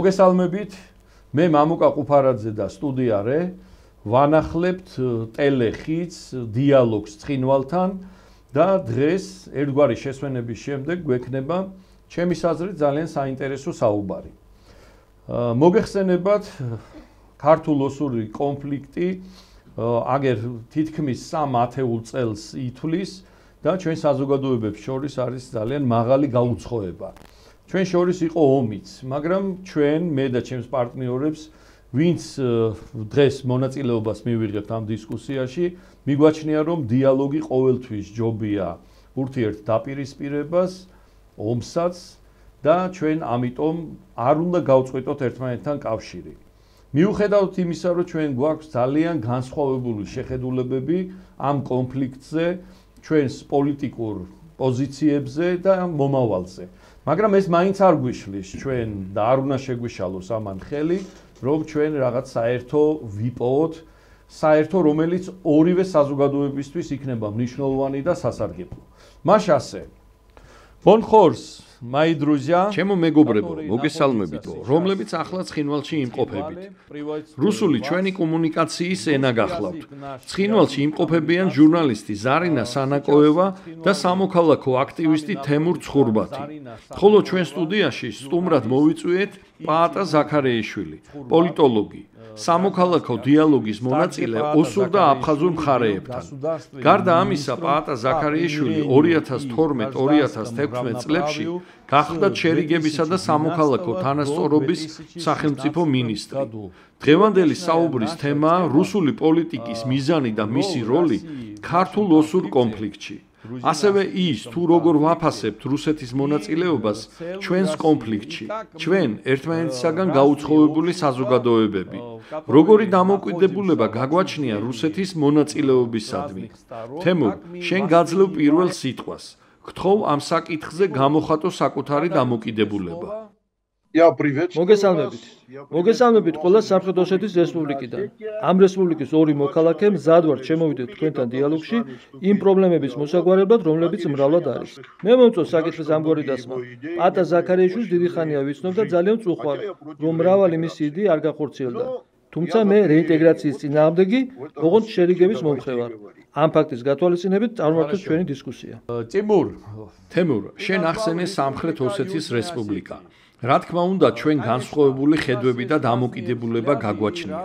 მოგესალმებით, მე მამუკა ყუფარაძე და სტუდია რე ვანახლებთ ტელეხიც დიალოგს ცხინვალთან და დღეს ერთგვარი შესვენების შემდეგ გვექნება ჩემი აზრით ძალიან საინტერესო საუბარი. მოგეხსენებათ ქართულ-ოსური კონფლიქტი აგერ თითქმის 3 ათეულ წელს ითვლის და ჩვენ საზოგადოებებს შორის არის ძალიან მაღალი გაუცხოება. ჩვენ შორის იყო ომიც, მაგრამ ჩვენ მე და ჩემს პარტნიორებს ვინც დღეს მონაწილეობას მივიღებთ ამ დისკუსიაში, მიგვაჩნია რომ დიალოგი ყოველთვის ჯობია ურთიერთ დაპირისპირებას, ომსაც და ჩვენ ამიტომ არ უნდა გავწყვეტოთ ერთმანეთთან კავშირი. მიუხედავად იმისა, რომ ჩვენ გვაქვს ძალიან განსხვავებული შეხედულებები ამ კონფლიქტზე, ჩვენს პოლიტიკურ პოზიციებზე და მომავალზე. მაგრამ ეს მაინც არ გვიშლის ჩვენ და არ უნდა შეგვიშალოს ამან ხელი, რომ ჩვენ რაღაც საერთო ვიპოვოთ, საერთო რომელიც ორივე საზოგადოებისთვის იქნება მნიშვნელოვანი და სასარგებლო. маш ასე. Бонхорс, мои друзья, ჩემო მეგობრებო, მოგესალმებითო, რომლებიც ახლა ცხინვალში იმყოფებით. რუსული ჩვენი კომუნიკაციის ენა გახლავთ. ცხინვალში იმყოფებიან ჟურნალისტი ზარინა სანაკოევა და სამოქალაქო აქტივისტი თემურ ცხურბათი. ხოლო ჩვენ სტუდიაში სტუმრად მოვიწვიეთ პაატა ზაქარეიშვილი, პოლიტოლოგი, სამოქალაქო დიალოგის მონაწილე ოსურ და აფხაზურ მხარეებთან. გარდა ამისა, პაატა ზაქარეიშვილი 2012-2016 წლებში გახდა შერიგებისა და სამოქალაქო თანასწორობის სახელმწიფო მინისტრი. დღევანდელი საუბრის თემაა რუსული პოლიტიკის მიზანი და მისი როლი ქართულ-ოსურ კონფლიქტში. ასევე ის თუ როგორ ვაფასებთ რუსეთის მონაწილეობას ჩვენს კონფლიქტში, ჩვენ ერთმანეთისაგან გაუცხოებული საზოგადოებები. როგორი დამოკიდებულება გაგვაჩნია რუსეთის მონაწილეობისადმი. თემურ, შენ გაძლევ პირველ სიტყვას. გთხოვ ამ საკითხზე გამოხატო საკუთარი დამოკიდებულება. მოგესალმებით ყველა სამხრეთ ოსეთის რესპუბლიკიდან. ამ რესპუბლიკის ორი მოქალაქე მზად ვართ შემოვიდეთ თქვენთან დიალოგში იმ პრობლემების მოსაგვარებლად, რომლებიც მრავლად არის. მე მომწონს საკითხის ამგვარი დასმა. პაატა ზაქარეიშვილს დიდი ხანია ვიცნობ და ძალიან წუხვალ, რომ მრავალი მისი იდეა არ გახორციელდა. თუმცა მე რეინტეგრაციის წინააღმდეგი, ოღონდ შერიგების მომხრე ვარ. ამ ფაქტის გათვალისწინებით წარმართოთ ჩვენი დისკუსია. თემურ, შენ ახსენე სამხრეთ ოსეთის რესპუბლიკა. რა თქმა უნდა, ჩვენ განსხვავებული ხედვები და დამოკიდებულება გაგვაჩნია.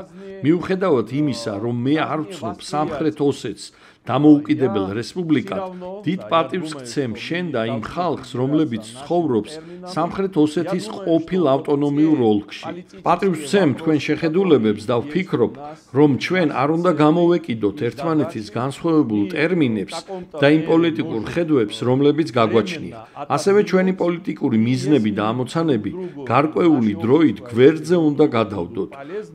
მიუხედავად იმისა, რომ მე არ ვცნობ სამხრეთ ოსეთს დამოუკიდებელ რესპუბლიკად, დიდ პატივს გცემ შენ და იმ ხალხს, რომლებიც ცხოვრობს სამხრეთ ოსეთის ყოფილ ავტონომიურ ოლქში. პატივს ვცემ თქვენ შეხედულებებს და ვფიქრობ, რომ ჩვენ არ უნდა გამოვეკიდოთ ერთმანეთის განსხვავებულ ტერმინებს და იმ პოლიტიკურ ხედვებს, რომლებიც გაგვაჩნია. ასევე ჩვენი პოლიტიკური მიზნები და ამოცანები გარკვეული დროით გვერდზე უნდა გადავდოთ.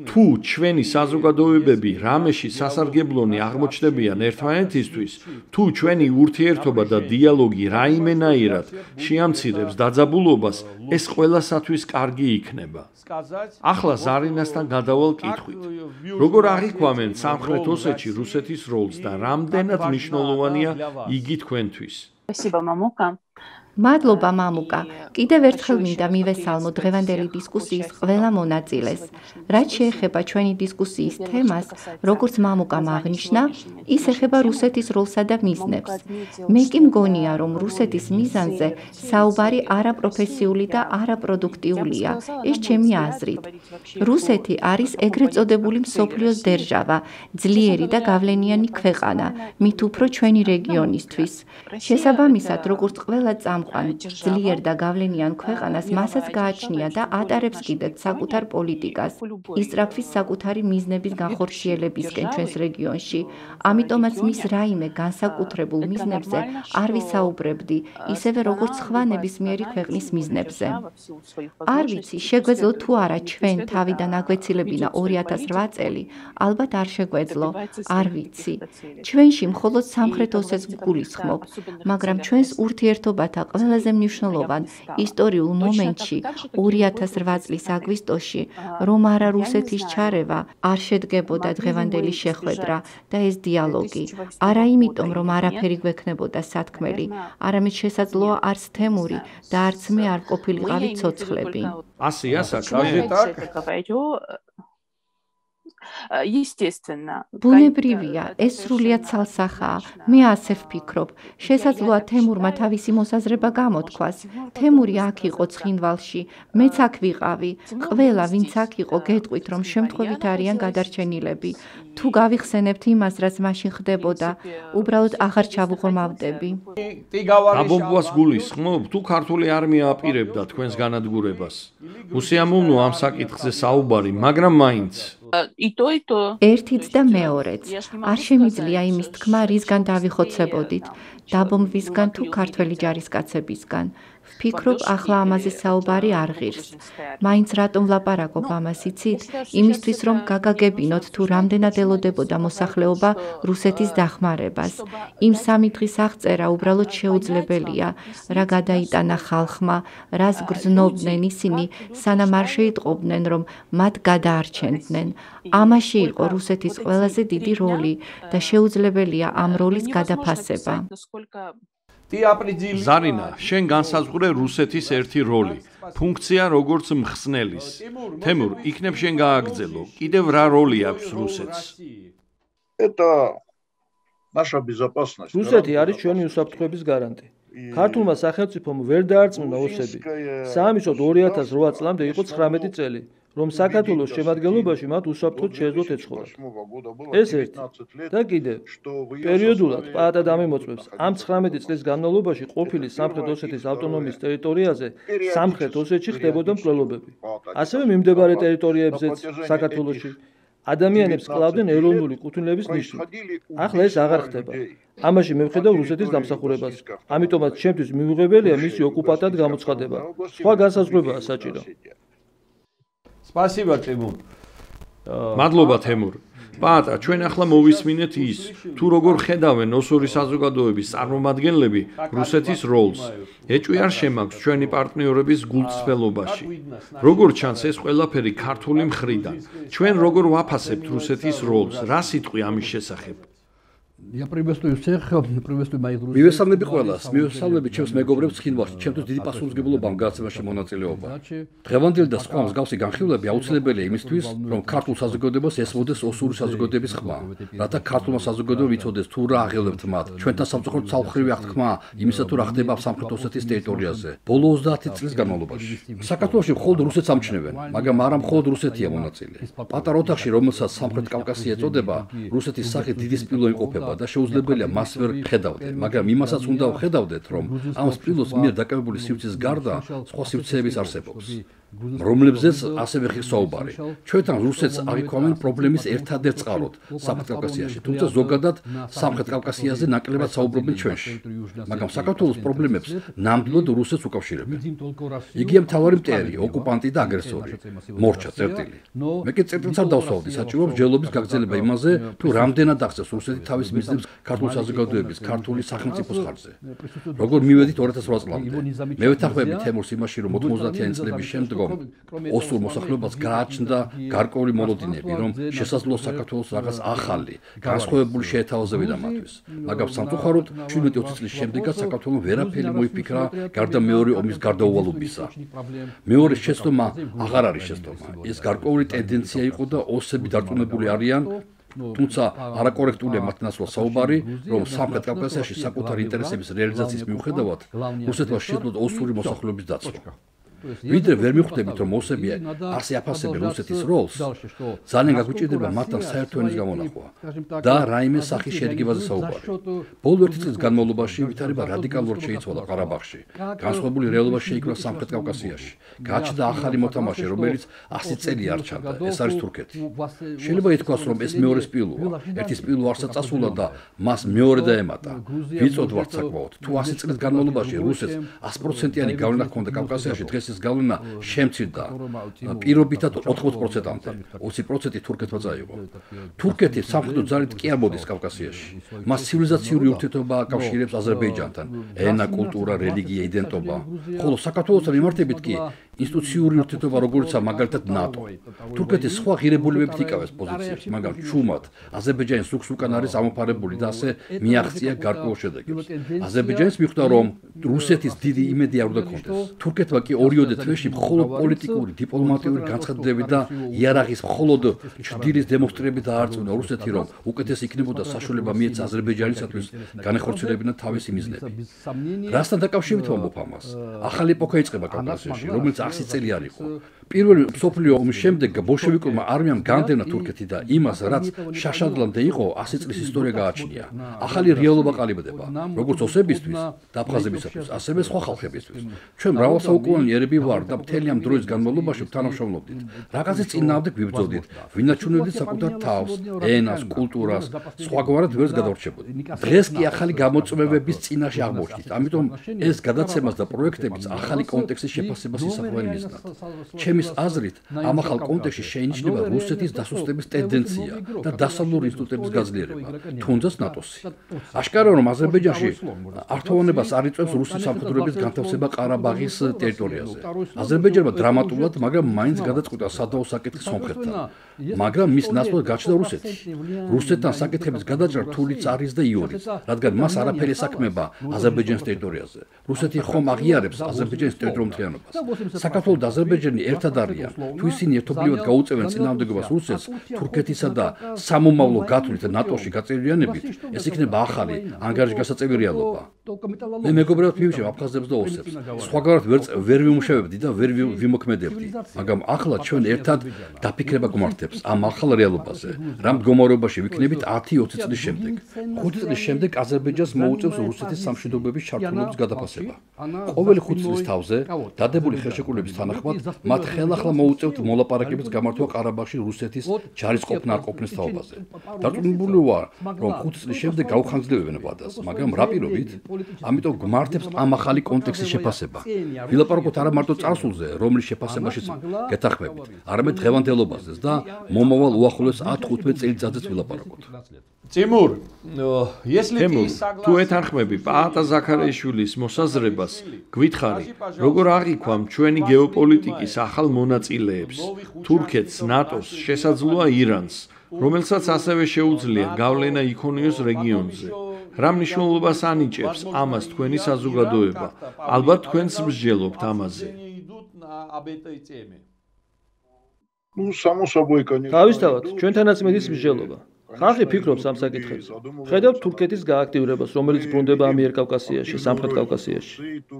თუ ჩვენი საზოგადოებები რამეში სასარგებლონი აღმოჩნდებიან ერთმანეთისთვის, თუ ჩვენი ურთიერთობა და დიალოგი რაიმენაირად შეამცირებს დაძაბულობას, ეს ყველასათვის კარგი იქნება. ახლა ზარინასთან გადავალ კითხვით. როგორ აღიქვამენ სამხრეთ ოსეთში რუსეთის როლს და რამდენად მნიშვნელოვანია იგი თქვენთვის? მადლობა მამუკა. კიდევ ერთხელ მინდა მივესალმო დღევანდელი დისკუსიის ყველა მონაწილეს. რაც შეეხება ჩვენი დისკუსიის თემას, როგორც მამუკამ აღნიშნა, ის ეხება რუსეთის როლსა და მიზნებს. მე კი მგონია, რომ რუსეთის მიზანზე საუბარი არაპროფესიული და არაპროდუქტიულია. ეს ჩემი აზრით. რუსეთი არის ეგრეთ წოდებული მსოფლიოს დერჟავა, ძლიერი და გავლენიანი ქვეყანა, მით უფრო ჩვენი რეგიონისთვის. შესაბამისად, როგორც ყველა ძლიერ და გავლენიან ქვეყანას მასაც გააჩნია და ატარებს კიდეც საკუთარ პოლიტიკას, ისწრაფვის საკუთარი მიზნების განხორციელებისკენ ჩვენს რეგიონში. ამიტომაც მის რაიმე განსაკუთრებულ მიზნებზე არ ვისაუბრებდი, ისევე როგორც სხვა ნებისმიერი ქვეყნის მიზნებზე. არ ვიცი, შეგვეძლო თუ არა ჩვენ თავიდან აგვეცილებინა 2008 წელი, ალბათ არ შეგვეძლო, არ ვიცი. ჩვენში მხოლოდ სამხრეთ ოსეთს გულისხმობ, მაგრამ ჩვენს ურთიერთობათა ყველაზე მნიშვნელოვან ისტორიულ მომენტში 2008 წლის აგვისტოში, რომ არა რუსეთის ჩარევა არ შედგებოდა დღევანდელი შეხვედრა და ეს დიალოგი. არა იმიტომ, რომ არაფერი გვექნებოდა სათქმელი, არამედ შესაძლოა არც თემური და არც მე არ ყოფილიყავი ცოცხლები. ასია საქმე. ბუნებრივია, ეს სრულიად ცალსახაა. მე ასე ვფიქრობ. შესაძლოა თემურმა თავისი მოსაზრება გამოთქვას. თემური აქ იყო ცხინვალში, მეც აქ ვიყავი. ყველა, ვინც აქ იყო, გეტყვით, რომ შემთხვევით არიან გადარჩენილები. თუ გავიხსენებთ იმას, რაც მაშინ ხდებოდა, უბრალოდ აღარ ჩავუღრმავდები. დაბომბვას გულისხმობ, თუ ქართული არმია აპირებდა თქვენს განადგურებას. უსიამოვნო ამ საკითხზე საუბარი, მაგრამ მაინც ერთიც და მეორეც. არ შემიძლია იმის თქმა, რისგან დავიხოცებოდით, დაბომბვისგან თუ ქართველი ჯარისკაცებისგან. ვფიქრობ, ახლა ამაზე საუბარი არ ღირს. მაინც რატომ ვლაპარაკობ ამას იცით? იმისთვის, რომ გაგაგებინოთ, თუ რამდენად ელოდებოდა მოსახლეობა რუსეთის დახმარებას. იმ 3 დღის აღწერა უბრალოდ შეუძლებელია, რა გადაიტანა ხალხმა, რას გრძნობდნენ ისინი, სანამ არ შეიტყობდნენ, რომ მათ გადაარჩენდნენ. ამაში იყო რუსეთის ყველაზე დიდი როლი და შეუძლებელია ამ როლის გადაფასება. ზარინა, შენ განსაზღვრე რუსეთის ერთი როლი, ფუნქცია როგორც მხსნელის. თემურ, იქნებ შენ გააგრძელო, კიდევ რა როლი აქვს რუსეთს? რუსეთი არის ჩვენი უსაფრთხოების გარანტი. ქართულმა სახელმწიფომ ვერ დაარწმუნა ოსები. საამისოდ 2008 წლამდე იყო 19 წელი, რომ საქართველოს შემადგენლობაში მათ უსაფრთხოდ შეეძლოთ ეცხოვრათ. ეს ერთი. და კიდევ, პერიოდულად პაატად ამემოწმებს, ამ 19 წლის განმავლობაში ყოფილი სამხრეთ ოსეთის ავტონომიის ტერიტორიაზე სამხრეთ ოსეთში ხდებოდა მკვლელობები. ასევე მიმდებარე ტერიტორიებზეც საქართველოში ადამიანებს კლავდნენ ეროვნული კუთვნილების ნიშნით. ახლა ეს აღარ ხდება. ამაში მევხედავ რუსეთის დამსახურებას. ამიტომაც ჩემთვის მიუღებელია მისი ოკუპანტად გამოცხადება. სხვა განსაზღვრებაა საჭირო. Спасибо, Тимур. მადლობა, თემურ. პაატა, ჩვენ ახლა მოვისმინეთ ის, თუ როგორ ხედავენ ოსური საზოგადოების წარმომადგენლები რუსეთის როლს. ეჭვი არ შემაქვს ჩვენი პარტნიორების გულწრფელობაში. როგორ ჩანს ეს ყველაფერი ქართული მხრიდან? ჩვენ როგორ ვაფასებთ რუსეთის როლს? რა სიტყვი ამის შესახებ? მივესალმები ყველას, მივესალმები ჩემს მეგობრებს ცხინვალში, ჩემთვის დიდი პასუხისმგებლობა ამ გადაცემაში მონაწილეობა. დღევანდელი და სხვა მსგავსი განხილვები აუცილებელია იმისთვის, რომ ქართულ საზოგადოებას ესმოდეს ოსური საზოგადოების ხმა, რათა ქართულმა საზოგადოებამ იცოდეს თუ რა აღელვებთ მათ. ჩვენთან სამწუხაროდ ცალმხრივი აღთქმა იმისა თუ რა ხდება სამხრეთ ოსეთის ტერიტორიაზე. ბოლო 30 წლის განმავლობაში. საქართველოში მხოლოდ რუსეთს ამჩნევენ, მაგრამ არა მხოლოდ რუსეთია მონაწილე. პატარა ოთახში, რომელსაც სამხრეთ კავკასია ეწოდება, რუსეთის სახით დიდი სპილო იმყოფება და შეუძლებელია მას ვერ ხედავდე, მაგრამ იმასაც უნდა ვხედავდეთ, რომ ამ სპილოს მიერ დაკავებული სივრცის გარდა სხვა სივრცეების არსებობს, რომლებზეც ასევე ხის საუბარი. ჩვენთან რუსეთს აღიქვამენ პრობლემის ერთადერთ წყაროდ სამხრეთ კავკასიაში, თუმცა ზოგადად სამხრეთ კავკასიაზე ნაკლებად საუბრობენ ჩვენში. მაგრამ საქართველოს პრობლემებს ნამდვილად რუსეთს უკავშირებენ. იგია მთავარი მტერი, ოკუპანტი და აგრესორი. მორჩა წერტილი. მე კი წერტილს არ დავსვავდი, საჭირო მსჯელობის გაგრძელება იმაზე, თუ რამდენად ახსენს რუსეთი თავის მიზნებს ქართულ საზოგადოების, ქართული სახელმწიფოს ხარჯზე. როგორ მივედით 2008 წლამდე. მე ვეთანხმები თემურს იმაში, რომ 90-იანი წლების შემდგომ ოსურ მოსახლეობას გააჩნდა გარკვეული მოლოდინები, რომ შესაძლოა საქართველოს რაღაც ახალი, განსხვავებული შეეთავაზებინა მათთვის. მაგრამ სამწუხაროდ 17-20 წლის შემდეგაც საქართველოს ვერაფერი მოიფიქრა გარდა მეორე ომის გარდაუვალობისა. მეორე შეცდომა აღარ არის შეცდომა. ეს გარკვეული ტენდენცია იყო და ოსები დარწმუნებული არიან, თუმცა არაკორექტულია მათ ნაცვლად საუბარი, რომ სამხრეთ კავკასიაში საკუთარი ინტერესების რეალიზაციის მიუხედავად რუსეთმა შეძლო ოსური მოსახლეობის დაცვა. ვიდრე ვერ მიხვდებით, რომ ოსები ასე აფასებენ რუსეთის როლს, ძალიან გაგვიჭირდება მათთან საერთო ენის გამონახვა და რაიმე სახის შერიგებაზე საუბარი. ბოლო 1 წლის განმავლობაში ვითარება რადიკალურად შეიცვალა ყარაბაღში, განსხვავებული რეალობა შეიქმნა სამხრეთ კავკასიაში. გაჩნდა ახალი მოთამაშე, რომელიც 100 წელი არ ჩანდა, ეს არის თურქეთი. შეიძლება ითქვას, რომ ეს მეორე სპილოა, ერთი სპილო არსად წასულა და მას მეორე დაემატა. ვიცოდ ვართ საკმაოდ, თუ 100 წლის განმავლობაში რუსეთს 100%-იანი გავლენა ჰქონდა კავკასიაში, დღეს რუსეთის გავლენა შემცირდა პირობითად 80%-მდე. 20% თურქეთმა წაიღო. თურქეთი სამხედრო ძალით კი არ მოდის კავკასიაში. მას ცივილიზაციური ურთიერთობა აკავშირებს აზერბაიჯანთან, ენა, კულტურა, რელიგია, იდენტობა. ხოლო საქართველოსთან მიმართებით კი ინსტიტუციური ურთიერთობა როგორიცაა მაგალითად ნატო. თურქეთის სხვა ღირებულებებით იკავებს პოზიციებს, მაგრამ ჩუმად აზერბაიჯანის ზოგს უკან არის ამოფარებული და ასე მიაღწია გარკვეულ შედეგებს. აზერბაიჯანის მიხვდა, რომ რუსეთის დიდი იმედი არ უნდა ქონდეს. თურქეთმა კი ორიოდე თვეში მხოლოდ პოლიტიკური, დიპლომატიური განცხადებები და იარაღის მხოლოდ ჩრდილის დემონსტრირებით დაარწმუნა რუსეთი, რომ უკეთეს იქნებოდა საშუალება მიეცა აზერბაიჯანისათვის განეხორციელებინა თავისი მიზნები. რასთან დაკავშირებით ვამბობ ამას? ახალი ეპოქა იწყება კავკასიაში, რომელიც 100 წელი არ იყო. პირველი მსოფლიო ომის შემდეგ ბოლშევიკურმა არმიამ განდევნა თურქეთი და იმას, რაც შაშადლამდე იყო, 100 წლის ისტორია გააჩნია. ახალი რეალობა ყალიბდება, როგორც ოსებისთვის და აფხაზებისათვის, ასევე სხვა ხალხებისთვის. ჩვენ მრავალსაუკუნიანი ერები ვარ და მთელი ამ დროის განმავლობაში ვთანამშრომლობდით. რაღაცის წინააღმდეგ ვიბრძოდით, ვინაჩვენებდით საკუთარ თავს, ენას, კულტურას, სხვაგვარად ვერს გადავრჩებოდით. დღეს კი ახალი გამოწვევების წინაშე აღმოჩნდით. ამიტომ ეს გადაცემას და პროექტებიც ახალი კონტექსტის შეფასებას ისახავენ მიზნად. ჩემის აზრით, ამ ახალ კონტექსტში შეინიშნება რუსეთის დასუსტების ტენდენცია და დასავლური ინსტიტუტების გაძლიერება, თუნდაც ნატოსი. აშკარაა, რომ აზერბაიჯანში ართოვანებას არ იწვევს რუსეთის სამხედროების განთავსება ყარაბაღის ტერიტორიაზე. აზერბაიჯანმა დრამატულად, მაგრამ მაინც გადაწყვიტა სადაო საკითხის სომხეთთან. მაგრამ მის ნაცვლად გაჩნდა რუსეთი. რუსეთთან საკითხების გადაჭრა რთულიც არის და იორიც, რადგან მას არაფერი ესაქმება აზერბაიჯანის ტერიტორიაზე. რუსეთი ხომ აღიარებს აზერბაიჯანის ტერიტორიულ მთლიანობას. საქართველო და აზერბაიჯანი ერთად არიან. თუ ისინი ერთობლივად გაუწევენ წინააღმდეგობას რუსეთს, თურქეთისა და სამომავლო გათვლით ნატოში გაწევრიანებით, ეს იქნება ახალი ანგარიშგასაწევი რეალობა. მე მეგობრებად მივიჩემ აფხაზებს და ოსებს. სხვაგვარად ვერ ვიმუშავებდი და ვერ ვიმოქმედებდი, მაგრამ ახლა ჩვენ ერთად დაფიქრება გვმართებს ამ ახალ რეალობაზე, რა მდგომარეობაში ვიქნებით 10-20 წლის შემდეგ. 5 წლის შემდეგ აზერბაიჯანს მოუწევს რუსეთის სამშვიდობოების ჩართულობის გადაფასება. ყოველი 5 წლის თავზე დადებული ხელშეკრულების თანახმად მათ ხელახლა მოუწევთ მოლაპარაკებების გამართვა ყარაბაღში რუსეთის ჯარისყოფნა არ ყოფნის თაობაზე. დარწმუნებული ვარ, რომ 5 წლის შემდეგ გაუხანძლებებენ ვადას, მაგრამ რა პირობით? ამიტომ გვმართებს ამ ახალი კონტექსტის შეფასება. ვილაპარაკოთ არა მარტო წარსულზე, რომლის შეფასებაშიც გეთანხმებით, არამედ დღევანდელობაზეც და მომავალ უახლოეს 10-15 წელიწადზეც ვილაპარაკოთ. Тимур, если თუ ეთანხმები პაატა ზაქარიაშვილის მოსაზრებას, გვითხრი, როგორ აღიქვამ ჩვენი გეოპოლიტიკის ახალ მონაწილეებს, თურქეთს, ნატოს, შესაძლოა ირანს, რომელსაც ასევე შეუძლია გავლენა იქონიოს რეგიონზე. რა მნიშვნელობას ანიჭებს ამას თქვენი საზოგადოება? ალბათ თქვენს მსჯელობთ ამაზე. თავისთავად, ჩვენთანაც მედის მსჯელობა. ხალხი ფიქრობს ამ საკითხებზე. ხედავთ თურქეთის გააქტიურებას, რომელიც ბრუნდება ამიერკავკასიაში, სამხრეთ კავკასიაში.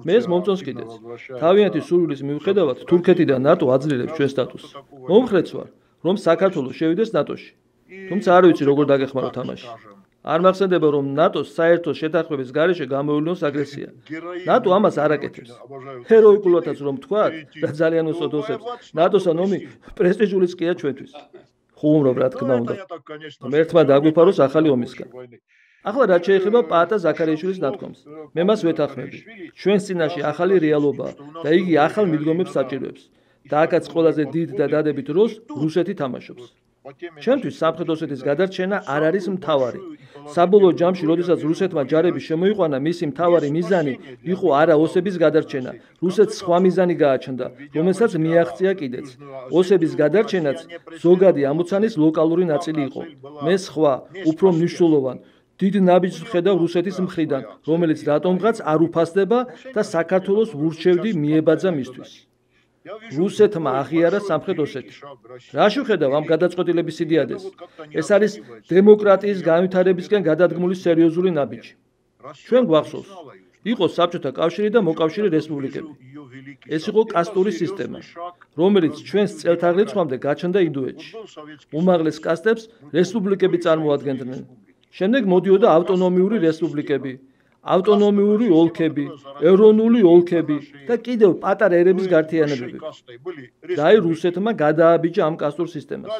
მე ეს მომწონს კიდეც. თავიანთი სურვილის მიუხედავად, თურქეთი და ნატო აძლიერებს ჩვენ სტატუსს. მომხრეც ვარ, რომ საქართველოს შევიდეს ნატოში. თუმცა არ ვიცი როგორ დაგეხმარო თამაში. არ მახსენდება, რომ ნატოს საერთო შეთანხმების გარეშე გამოივლინოს აგრესია. ნატო ამას არ აკეთებს. ჰეროიკულადაც რომ თქვათ და ძალიან უსწოდ ოსებს, ნატოსთან ომი პრესტიჟულიც ყია ჩვენთვის. ხუმრობ რა თქმა უნდა. ერთმა დაგვიფაროს ახალი ომისგან. ახლა რაც შეეხება პაატა ზაქარიაშვილის ნათქვამს, მე მას ვეთანხმები. ჩვენს წინაშე ახალი რეალობაა და იგი ახალ მიდგომებს საჭიროებს. და აქაც ყველაზე დიდ და დადებით როლს რუსეთი თამაშობს. ჩვენთვის სამხრეთ ოსეთის გადარჩენა არ არის მთავარი. საბოლოო ჯამში, როდესაც რუსეთმა ჯარები შემოიყვანა, მისი მთავარი მიზანი იყო არა ოსების გადარჩენა, რუსეთს სხვა მიზანი გააჩნდა, რომელსაც მიაღწია კიდეც. ოსების გადარჩენაც ზოგადი ამოცანის ლოკალური ნაწილი იყო. მე სხვა, უფრო მნიშვნელოვანი დიდ ნაბიჯს ვხედავ რუსეთის მხრიდან, რომელიც რატომღაც არ უფასდება და საქართველოს ვურჩევდი მიებაძა მისთვის. რუსეთმა აღიარა სამხრეთ ოსეთი. რაში ვხედავ ამ გადაწყვეტილების იდეადეს? ეს არის დემოკრატიის განვითარებისკენ გადადგმული სერიოზული ნაბიჯი. ჩვენ გვახსოვს, იყო საბჭოთა კავშირი და მოკავშირე რესპუბლიკები. ეს იყო კასტური სისტემა, რომელიც ჩვენს წელთაღრიცხვამდე გაჩნდა ინდოეთში. უმაღლეს კასტებს რესპუბლიკები წარმოადგენდნენ. შემდეგ მოდიოდა ავტონომიური რესპუბლიკები, ავტონომიური ოლქები, ეროვნული ოლქები და კიდევ პატარა ერების გაერთიანებები. და რუსეთმა გადააბიჯა ამ კასტურ სისტემას.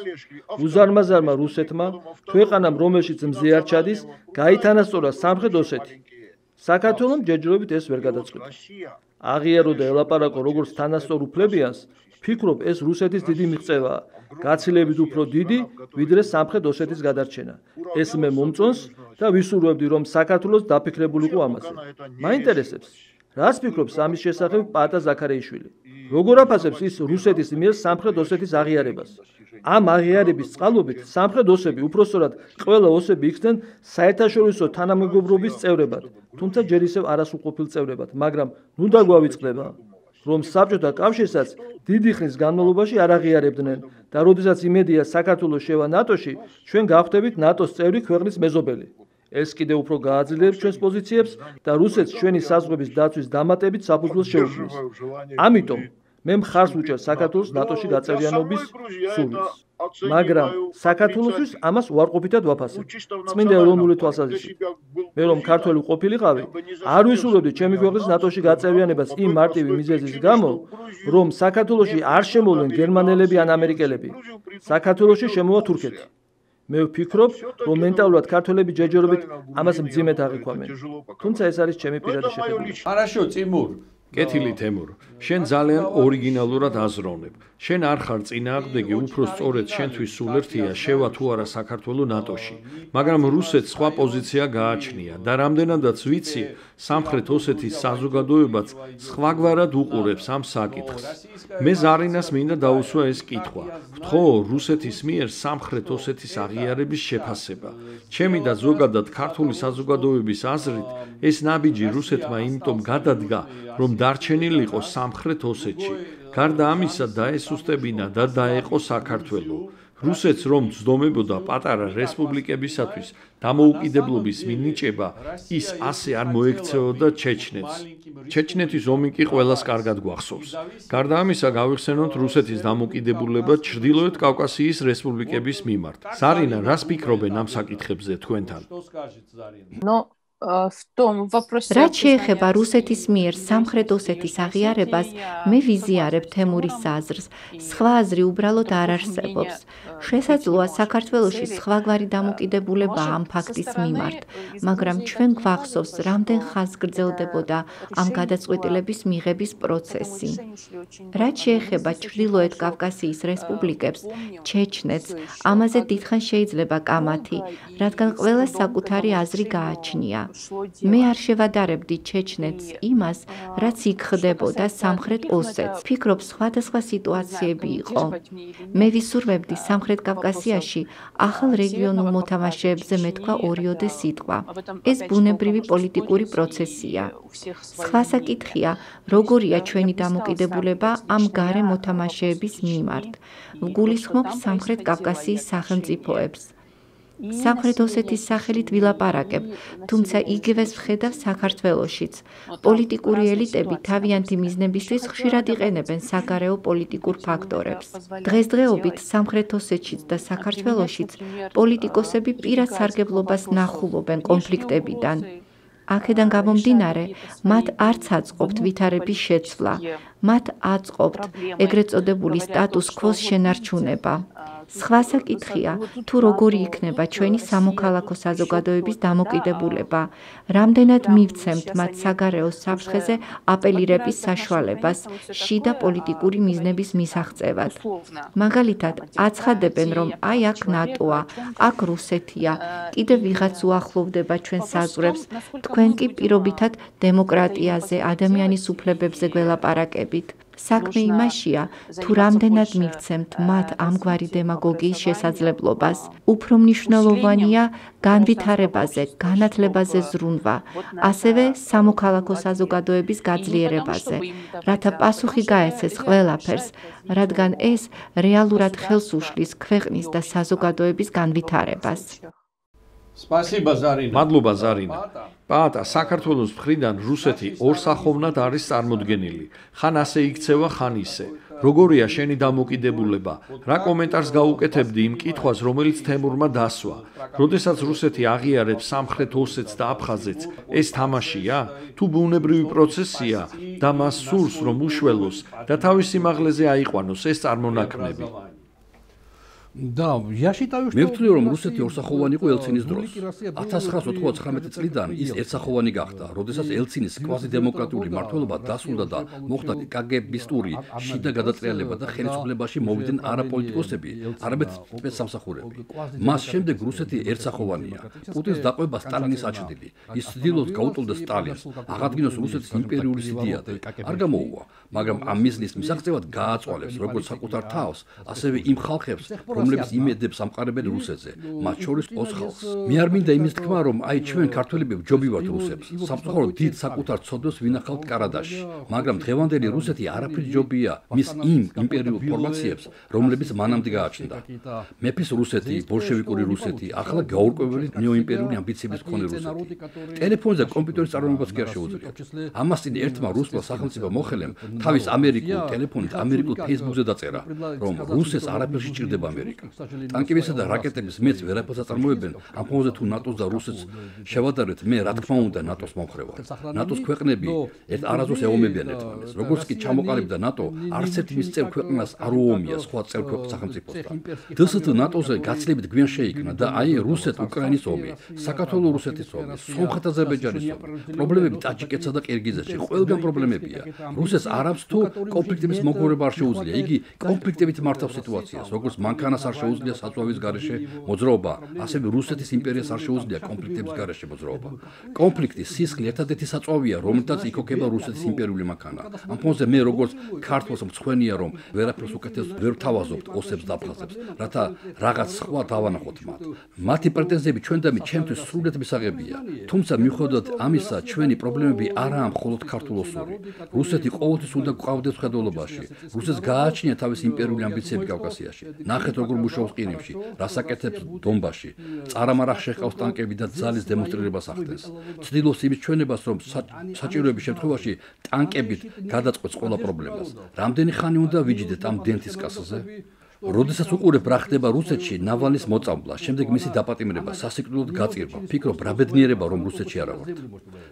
უზარმაზარმა რუსეთმა, ქვეყანამ რომელშიც მზე არ ჩადის, გაითანასწორა სამხრეთ ოსეთი. საქართველომ ჯერჯერობით ეს ვერ გადაწყვიტა. აღიარო და ელაპარაკო როგორც თანასწორ უფლებიანს, ვფიქრობ, ეს რუსეთის დიდი მიღწევაა, გაცილებით უფრო დიდი, ვიდრე სამხრეთ ოსეთის გადარჩენა. ეს მე მომწონს და ვისურვებდი, რომ საქართველოს დაფიქრებულიყო ამაზე. მაინტერესებს, რას ფიქრობს ამის შესახებ პაატა ზაქარეიშვილი? როგორ აფასებს ის რუსეთის მიერ სამხრეთ ოსეთის აღიარებას? ამ აღიარების წყალობით სამხრეთ ოსები, უпростоრად ყველა ოსები იქცნენ საერთაშორისო თანამეგობრობის წევრებად, თუმცა ჯერ ისევ არასრულყოფილ წევრებად, მაგრამ ნუ დაგვავიწყდება, რომ საბჭოთა კავშირსაც დიდი ხნის განმავლობაში არ აღიარებდნენ და როდესაც იმედია საქართველოს შევა ნატოში, ჩვენ გავხდებით ნატოს წევრი ქვეყნის მეზობელი. ეს კიდევ უფრო გააძლიერებს ჩვენს პოზიციებს და რუსეთს ჩვენი საზღვრების დაცვის დამატებით საფუძველს შეუქმნის. ამიტომ მე მხარს ვუჭერ საქართველოს ნატოში გაწევრიანობის სურვილს. მაგრამ საქართველოსთვის ამას უარყოფითად ვაფასებ. წმინდა ეროვნული თვალსაზრისით. მე რომ ქართველი ყოფილიყავი, არ ვისურვებდი ჩემი ქვეყნის ნატოში გაწევრიანებას იმ მარტივი მიზეზის გამო, რომ საქართველოში არ შემოვლენ გერმანელები ან ამერიკელები. საქართველოში შემოვა თურქეთი. მე ვფიქრობ, რომ მენტალურად ქართველები ჯერჯერობით ამას მძიმედ აღიქვამენ. თუმცა ეს არის ჩემი პირადი შეხედვილი. Хорошо, Тимур. კეთილი თემურ, შენ ძალიან ორიგინალურად აზროვნებ. შენ არ ხარ წინააღმდეგი, უფრო სწორედ შენთვის სულ ერთია შევა თუ არა საქართველოს ნატოში. მაგრამ რუსეთს სხვა პოზიცია გააჩნია და რამდენადაც ვიცი, სამხრეთ ოსეთის საზოგადოებაც სხვაგვარად უყურებს ამ საკითხს. მე ზარინას მინდა დაუსვა ეს კითხვა. ვთხოვ რუსეთის მიერ სამხრეთ ოსეთის აღიარების შეფასება. ჩემი და ზოგადად ქართული საზოგადოების აზრით, ეს ნაბიჯი რუსეთმა იმიტომ გადადგა, რომ დარჩენილიყო სამხრეთ ოსეთში. გარდა ამისა დაესუსტებინა და დაეყო საქართველო. რუსეთს რომ ძდომებოდა პატარა რესპუბლიკებისათვის დამოუკიდებლობის მინიჭება, ის ასე არ მოექცეოდა ჩეჩნეთს. ჩეჩნეთის ომი კი ყველას კარგად გვახსოვს. გარდა ამისა გავიხსენოთ რუსეთის დამოუკიდებულება ჩრდილოეთ კავკასიის რესპუბლიკების მიმართ. ზარინა, რას ფიქრობენ ამ საკითხებზე თქვენთან? რაც შეეხება რუსეთის მიერ სამხრეთ ოსეთის აღიარებას, მე ვიზიარებ თემურის აზრს. სხვა აზრი უბრალოდ არ არსებობს. შესაძლოა საქართველოში სხვაგვარი დამოკიდებულება ამ ფაქტის მიმართ, მაგრამ ჩვენ გვახსოვს, რამდენ ხანს გრძელდებოდა ამ გადაწყვეტილების მიღების პროცესი. რაც შეეხება ჩრდილოეთ კავკასიის რესპუბლიკებს, ჩეჩნეთს, ამაზე დიდხანს შეიძლება კამათი, რადგან ყველას საკუთარი აზრი გააჩნია. მე არ შევადარებდი ჩეჩნეთს იმას, რაც იქ ხდებოდა სამხრეთ ოსეთს. ფიქრობ, სხვადასხვა სიტუაციები იყო. მე ვისურვებდი სამხრეთ კავკასიაში ახალ რეგიონულ მოთამაშეებზე მეთქვა ორიოდე სიტყვა. ეს ბუნებრივი პოლიტიკური პროცესია. სხვა საკითხია, როგორია ჩვენი დამოკიდებულება ამ გარე მოთამაშეების მიმართ. ვგულისხმობ სამხრეთ კავკასიის სახელმწიფოებს. სამხრეთ ოსეთის სახელით ვილაპარაკებ, თუმცა იგივეს ვხედავ საქართველოშიც. პოლიტიკური ელიტები თავიანთი მიზნებისთვის ხშირად იყენებენ საგარეო პოლიტიკურ ფაქტორებს. დღესდღეობით სამხრეთ ოსეთშიც და საქართველოშიც პოლიტიკოსები პირად სარგებლობას ნახულობენ კონფლიქტებიდან. აქედან გამომდინარე, მათ არც აწყობთ ვითარების შეცვლა, მათ აწყობთ ეგრეთ წოდებული სტატუს კვოს შენარჩუნება. სხვა საკითხია, თუ როგორი იქნება ჩვენი სამოქალაქო საზოგადოების დამოკიდებულება, რამდენად მივცემთ მათ საგარეო საფრთხეზე აპელირების საშუალებას შიდა პოლიტიკური მიზნების მისაღწევად. მაგალითად, აცხადებენ, რომ აი აქ ნატოა, აქ რუსეთია, კიდევ ვიღაც უახლოვდება ჩვენ საზღვრებს, თქვენ კი პირობითად დემოკრატიაზე, ადამიანის უფლებებზე გველაპარაკებით. საქმე იმაშია, თუ რამდენად მივცემთ მათ ამგვარი დემაგოგიის შესაძლებლობას. უფრო მნიშვნელოვანია განვითარებაზე, განათლებაზე ზრუნვა, ასევე სამოქალაქო საზოგადოების გაძლიერებაზე, რათა პასუხი გაეცეს ყველაფერს, რადგან ეს რეალურად ხელს უშლის ქვეყნის და საზოგადოების განვითარებას. Спасибо, Зарина. მადლობა ზარინა. პაატა, საქართველოს მხრიდან რუსეთი ორსახოვნად არის წარმოდგენილი. ხან ასე იქცევა, ხან ისე. როგორია შენი დამოკიდებულება? რა კომენტარს გაუკეთებდი იმ კითხვას, რომელიც თემურმა დასვა? როდესაც რუსეთი აღიარებს სამხრეთ ოსეთს და აფხაზეთს, ეს თამაშია? თუ ბუნებრივი პროცესია და მას სურს, რომ უშველოს და თავის სიმაღლეზე აიყვანოს ეს წარმონაქმნები? მე ვთვლი რომ რუსეთი ორსახოვანი იყო ელცინის დროს. 1999 წლიდან ის ერთსახოვანი გახდა, როდესაც ელცინის კვაზიდემოკრატიული მმართველობა დასრულდა და მოხდა კგბ-ისტური შიდა გადატრიალება და ხელისუფლებაში მოვიდნენ არა პოლიტიკოსები, არამედ სპეცსამსახურები. მას შემდეგ რუსეთი ერთსახოვანია. პუტინს დაყვება სტალინის აჩრდილი. ის ცდილობს გაუტოლდეს სტალინს, აღადგინოს რუსეთის იმპერიული სიდიადე. არ გამოუვა, მაგრამ ამ მიზნის მისაღწევად გააწვალებს როგორც საკუთარ თავს, ასევე იმ ხალხებს, რომლებიც იმედებს ამყარებენ რუსეთზე, მათ შორის 20 ხალხს. მე არ მინდა იმის თქმა, რომ აი ჩვენ ქართველები ვჯობივართ რუსებს. სამწუხაროდ დიდ საკუთარ ცოდვას ვინახავთ კარადაში, მაგრამ დღევანდელი რუსეთი არაფრით ჯობია მის იმ იმპერიულ ფორმაციებს, რომლებიც მანამდე გააჩნდა. მეფის რუსეთი, ბოლშევიკური რუსეთი, ახლა გაურკვეველი ნეოიმპერიული ამბიციების მქონე რუსეთი. ტელეფონზე და კომპიუტერის წარმოებაც კი არ შეუძლიათ. ამას წინ ერთმა რუსმა სახელმწიფო მოხელემ თავის ამერიკულ ტელეფონით ამერიკულ Facebook-ზე დაწერა, რომ რუსეთს არაფერში სჭირდება ამერიკა. ტანკებისა და რაკეტების მეც ვერაფერს აწარმოებენ, ამ ფონზე თუ ნატოს და რუსეთს შევადარებთ, მე რა თქმა უნდა ნატოს მომხრევარ. ნატოს ქვეყნები ერთ არაზოს ეომებიან ერთმანეთს. როგორც კი ჩამოყალიბდა ნატო, არც ერთ მის წევრ ქვეყნას არ უომია სხვა წევრ სახელმწიფოსთან. დსთ ნატოზე გაცილებით გვიან შეიქმნა და აი რუსეთ-უკრაინის ომი, საქართველო-რუსეთის ომი, სომხეთ-აზერბაიჯანის ომი, პრობლემები ტაჯიკეთსა და ყირგიზეთში, ყველგან პრობლემებია. რუსეთს არამც თუ კონფლიქტების მოგვარება არ შეუძლია, იგი კონფლიქტებით მართავს სიტუაციას, როგორც მანქანას არ შეუძლია საწვავის გარეშე მოძრაობა, ასევე რუსეთის იმპერიას არ შეუძლია კონფლიქტების გარეშე მოძრაობა. კონფლიქტი, სისხლი ერთადერთი საწვავია, რომელთაც იქოქება რუსეთის იმპერიული მანქანა. ამ ფონზე მე როგორც ქართველს მწვენია, რომ ვერაფერს უკეთეს ვერ თავაზობთ ოსებს და აფხაზებს, რათა რაღაც სხვა დავანახოთ მათ. მათი პრეტენზიები ჩვენდამი ჩემთვის სრულიად მისაღებია. თუმცა მიუხედავად ამისა, ჩვენი პრობლემები არაა მხოლოდ ქართულოსური. რუსეთი ყოველთვის უნდა გვყავდეს ხედველობაში. რუსეთს გააჩნია თავის იმპერიული ამბიციები კავკასიაში. ნახეთ როგორ მუშაობს ყირიმში, რას აკეთებს დონბასში. წარამარახ შეყავს ტანკები და ძალის დემონსტრირებას ახდენს. ცდილობს იმის ჩვენებას, რომ საჭიროების შემთხვევაში ტანკებით გადაწყვეტს ყველა პრობლემას. რამდენი ხანი უნდა ვიჯდეთ ამ დენთის კასაზე? როდესაც უყურებ რა ხდება რუსეთში, ნავალნის მოწამვლა, შემდეგ მისი დაპატიმრება, სასიკვდილოდ გაწირვა, ფიქრობ რა ბედნიერება რომ რუსეთში არა ვართ.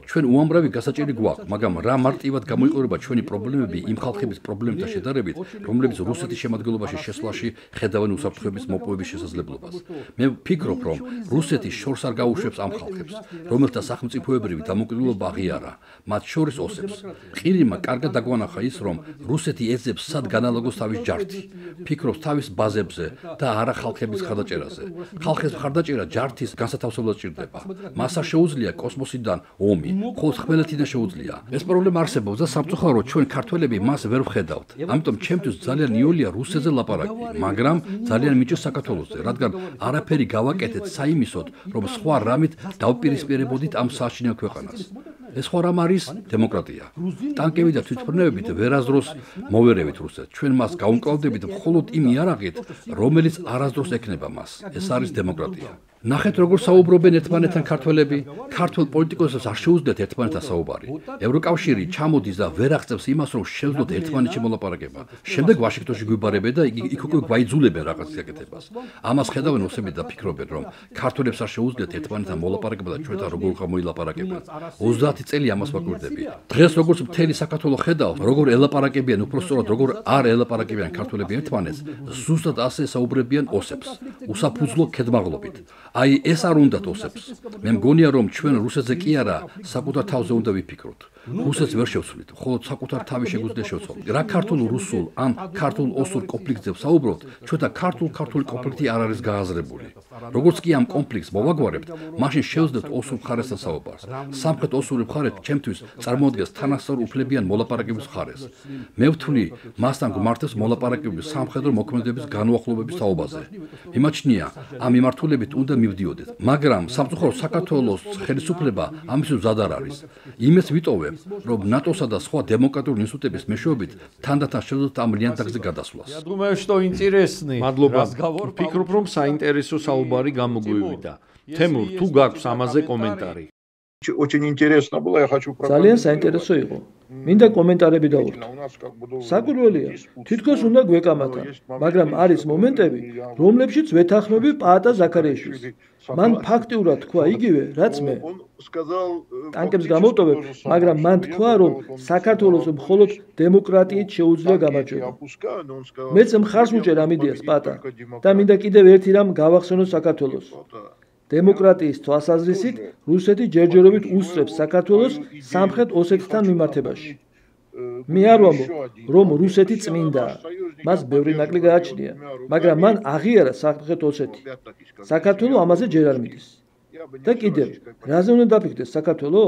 ჩვენ უამრავი გასაჭირი გვაქვს, მაგრამ რა მარტივად გამოიყურება ჩვენი პრობლემები იმ ხალხების პრობლემებთან შედარებით, რომლებიც რუსეთის შემადგენლობაში შესვლაში ხედავენ უსაფრთხოების მოპოვების შესაძლებლობას. მე ვფიქრობ, რომ რუსეთი შორს არ გაუშვებს ამ ხალხებს, რომელთა სახელმწიფოებრივი დამოუკიდებლობა აღიარა, მათ შორის ოსებს. ყირიმმა კარგად დაგვანახა ის, რომ რუსეთი ეძებს სად განალაგოს თავის ჯართი. ფიქრობს თავის ბაზებზე და არა ხალხების ხარდაჭერაზე. ხალხის ხარდაჭერა ჯართის განსათავსებლად ჭირდება. მას არ შეუძლია კოსმოსიდან ომი, ხოლო ხმელეთიდან შეუძლია. ეს პრობლემა არსებობს და სამწუხაროდ ჩვენ ქართველები მას ვერ ვხედავთ. ამიტომ ჩემთვის ძალიან იოლია რუსეთზე ლაპარაკი, მაგრამ ძალიან მიჭირს საქართველოზე, რადგან არაფერი გავაკეთეთ საიმისოდ, რომ სხვა რამით დავპირისპირებოდით ამ საშინელ ქვეყანას. ეს ხო რამ არის დემოკრატია. ტანკები და თვითმფრინავებით ვერასდროს მოვერევით რუსეთს. ჩვენ მას გაუმკლავდებით მხოლოდ იმ იარაღით, რომელიც არასდროს ექნება მას. ეს არის დემოკრატია. ნახეთ როგორ საუბრობენ ერთმანეთთან ქართველები. ქართველ პოლიტიკოსებს არ შეუძლიათ ერთმანეთთან საუბარი. ევროკავშირი ჩამოდის და ვერ აღწევს იმას, რომ შევძლოთ ერთმანეთში მოლაპარაკება. შემდეგ ვაშინგტონში გვიბარებენ და იქ უკვე გვაიძულებენ რაღაც გაკეთებას. ამას ხედავენ ოსები და ფიქრობენ, რომ ქართველებს არ შეუძლიათ ერთმანეთთან მოლაპარაკება და ჩვენთან როგორ მოილაპარაკებენ. 30 წელი ამას ვაკვირდები. დღეს როგორც მთელი საქართველო ხედავს, როგორ ელაპარაკებიან, უпростоრად როგორ არ ელაპარაკებიან ქართველები ერთმანეთს, ზუსტად ასე საუბრებიან ოსებს. უსაფუძვლო ქედმაღლობით. აი ეს არ უნდათ ოსებს. მე მგონია რომ ჩვენ რუსეთზე კი არა, საკუთარ თავზე უნდა ვიფიქროთ. რუსეთს ვერ შევცვლით, ხოლო საკუთარ თავი შეგვიძლია შევცვლოთ. რა ქართულ-რუსულ ან ქართულ-ოსურ კონფლიქტზე ვსაუბრობთ, ჩვენთან ქართული კონფლიქტი არ არის გააზრებული. როგორც კი ამ კონფლიქტს მოვაგვარებთ, მაშინ შევძლებთ ოსურ მხარესთან საუბარს. სამხრეთ-ოსური მხარე ჩემთვის წარმოადგენს თანასწორ უფლებიან მოლაპარაკების მხარეს. მე ვთვლი, მასთან გვმართებს მოლაპარაკების სამხედრო მოქმედების განუახლოვების თაობაზე. მიმაჩნია, ამ მიმართულებით უნდა მივდიოდეთ, მაგრამ სამწუხაროდ საქართველოს ხელისუფლება ამისთვის მზად არ არის. იმას ვიტოვებ, რომ ნატოსა და სხვა დემოკრატიული ინსტიტუტების მეშვეობით თანდათან შევძლოთ ამ ლიანდაგზე გადასვლას. Я думаю, что интересный. მადლობა. ვფიქრობ, რომ საინტერესო საუბარი გამოგვივიდა. თემურ, თუ გაქვს ამაზე კომენტარი? Очень интересно было, я хочу ძალიან საინტერესო იყო. მინდა კომენტარები დავუერთო. საკვირველია, თითქოს უნდა გვეკამათა, მაგრამ არის მომენტები, რომლებშიც ვეთანხმები პაატა ზაქარიაშვილს. მან ფაქტიურად თქვა იგივე, რაც მე. ტანკებს გამოვტოვებ, მაგრამ მან თქვა, რომ საქართველოს მხოლოდ დემოკრატიით შეუძლია გამარჯვება. მეც მხარს ვუჭერ ამ იდეას, პაატა, და მინდა კიდევ ერთი რამ გავახსენო საქართველოს. დემოკრატიის თვალსაზრისით რუსეთი ჯერჯერობით უსწრებს საქართველოს სამხრეთ ოსეთთან მიმართებაში. მე არ ვამბობ, რომ რუსეთი წმინდაა. მას ბევრი ნაკლი გააჩნია, მაგრამ მან აღიარა სამხრეთ ოსეთი. საქართველო ამაზე ჯერ არ მიდის. და კიდევ, რაზე უნდა დაფიქრდეს საქართველო?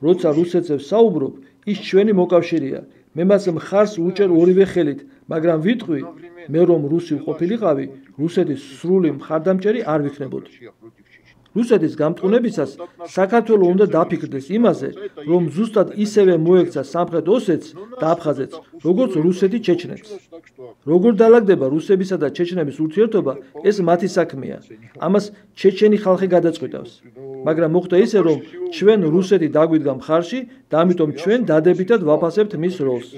როცა რუსეთზე ვსაუბრობ, ის ჩვენი მოკავშირეა. მე მას მხარს ვუჭერ ორივე ხელით, მაგრამ ვიტყვი, მე რომ რუსი ვყოფილიყავი, რუსეთის სრული მხარდამჭერი არ ვიქნებოდი. რუსეთის გამტყუნებისას საქართველო უნდა დაფიქრდეს იმაზე, რომ ზუსტად ისევე მოექცა სამხრეთ ოსეთს და აფხაზეთს, როგორც რუსეთი ჩეჩნეთს. როგორ დაალაგდება რუსებისა და ჩეჩნების ურთიერთობა, ეს მათი საქმეა. ამას ჩეჩენი ხალხი გადაწყვიტავს. მაგრამ მოხდა ისე, რომ ჩვენ რუსეთი დაგვიდგა მხარში და ამიტომ ჩვენ დადებითად ვაფასებთ მის როლს.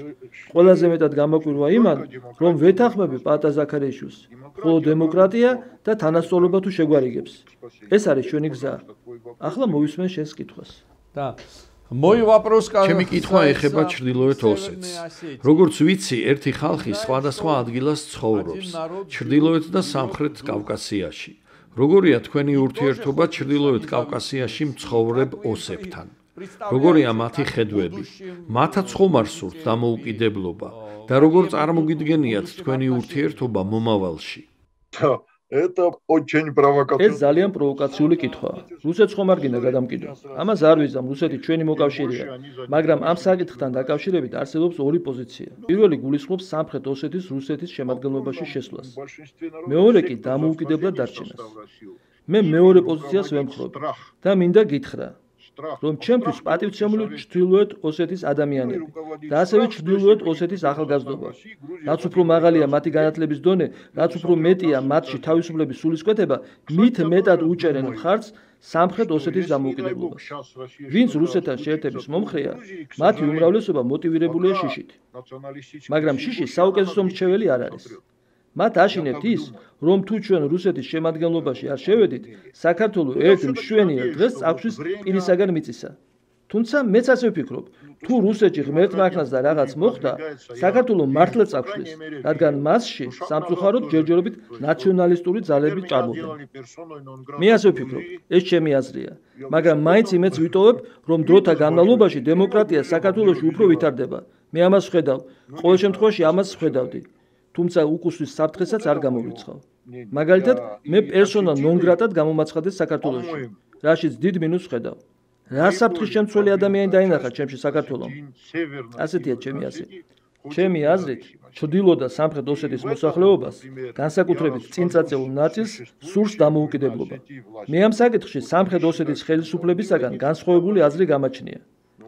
ყველაზე მეტად გამაკვირვა იმან, რომ ვეთანხმები პაატა ზაქარიაშვილს. ხოლო დემოკრატია და თანასწორობა თუ შეგვარიგებს. ეს არის ჩვენი გზა. ახლა მოვისმენ შენს კითხვას. და мой вопрос ჩემი კითხვა ეხება ჩრდილოეთ ოსეთს. როგორც ვიცი, ერთი ხალხი სხვადასხვა ადგილას ცხოვრობს, ჩრდილოეთ და სამხრეთ კავკასიაში. როგორია თქვენი ურთიერთობა ჩრდილოეთ კავკასიაში მცხოვრებ ოსებთან? როგორია მათი ხედვები? მათაც ხომ არ სურთ დამოუკიდებლობა და როგორ წარმოგიდგენიათ თქვენი ურთიერთობა მომავალში? ეს ძალიან პროვოკაციული კითხვაა. რუსეთს ხომ არ გინდა გადამკიდო? ამას არ ვიზამ, რუსეთი ჩვენი მოკავშირეა, მაგრამ ამ საკითხთან დაკავშირებით არსებობს ორი პოზიცია. პირველი გულისხმობს სამხრეთ ოსეთის რუსეთის შემადგენლობაში შესვლას. მეორე კი დამოუკიდებლად დარჩენას. მე მეორე პოზიციას ვემხრობ და მინდა გითხრა, რომ ჩემთვის პატივცემული ჩრდილოეთ ოსეთის ადამიანები და ასევე ჩრდილოეთ ოსეთის ახალგაზრდობა. რაც უფრო მაღალია მათი განათლების დონე, რაც უფრო მეტია მათში თავისუფლების სულისკვეთება, მით მეტად უჭერენ მხარს სამხრეთ ოსეთის დამოუკიდებლობას. ვინც რუსეთთან შეერთების მომხრეა, მათი უმრავლესობა მოტივირებულია შიშით. მაგრამ შიში საუკეთესო მრჩეველი არ არის. მათ აშინებთ ის, რომ თუ ჩვენ რუსეთის შემადგენლობაში არ შევედით, საქართველო ერთ მშვენიერ დღეს წავშვის პირისაგან მიწისა. თუმცა მეც ასე ვფიქრობ, თუ რუსეთში ღმერთმა ახნას და რაღაც მოხდა, საქართველო მართლა წავშვის, რადგან მასში სამწუხაროდ ჯერჯერობით ნაციონალისტური ძალები ჭარბობენ. მე ასე ვფიქრობ, ეს ჩემი აზრია, მაგრამ მაინც იმედს ვიტოვებ, რომ დროთა განმავლობაში დემოკრატია საქართველოში უფრო ვითარდება. მე ამას ვხედავ, ყოველ შემთხვევაში ამას ვხედავდი. თუმცა უკუსვის საფრთხესაც არ გამოვრიცხავ. მაგალითად, მე პერსონა ნონ გრატად გამომაცხადეს საქართველოში, რაშიც დიდ მინუსს ვხედავ. რა საფრთხის შემცველი ადამიანი დაინახა ჩემში საქართველომ? ასეთია ჩემი აზრი. ჩემი აზრით, ჩრდილო და სამხრეთ ოსეთის მოსახლეობას, განსაკუთრებით წინწაწეულ ნაწილს, სურს დამოუკიდებლობა. მე ამ საკითხში სამხრეთ ოსეთის ხელისუფლებისაგან განსხვავებული აზრი გამაჩნია.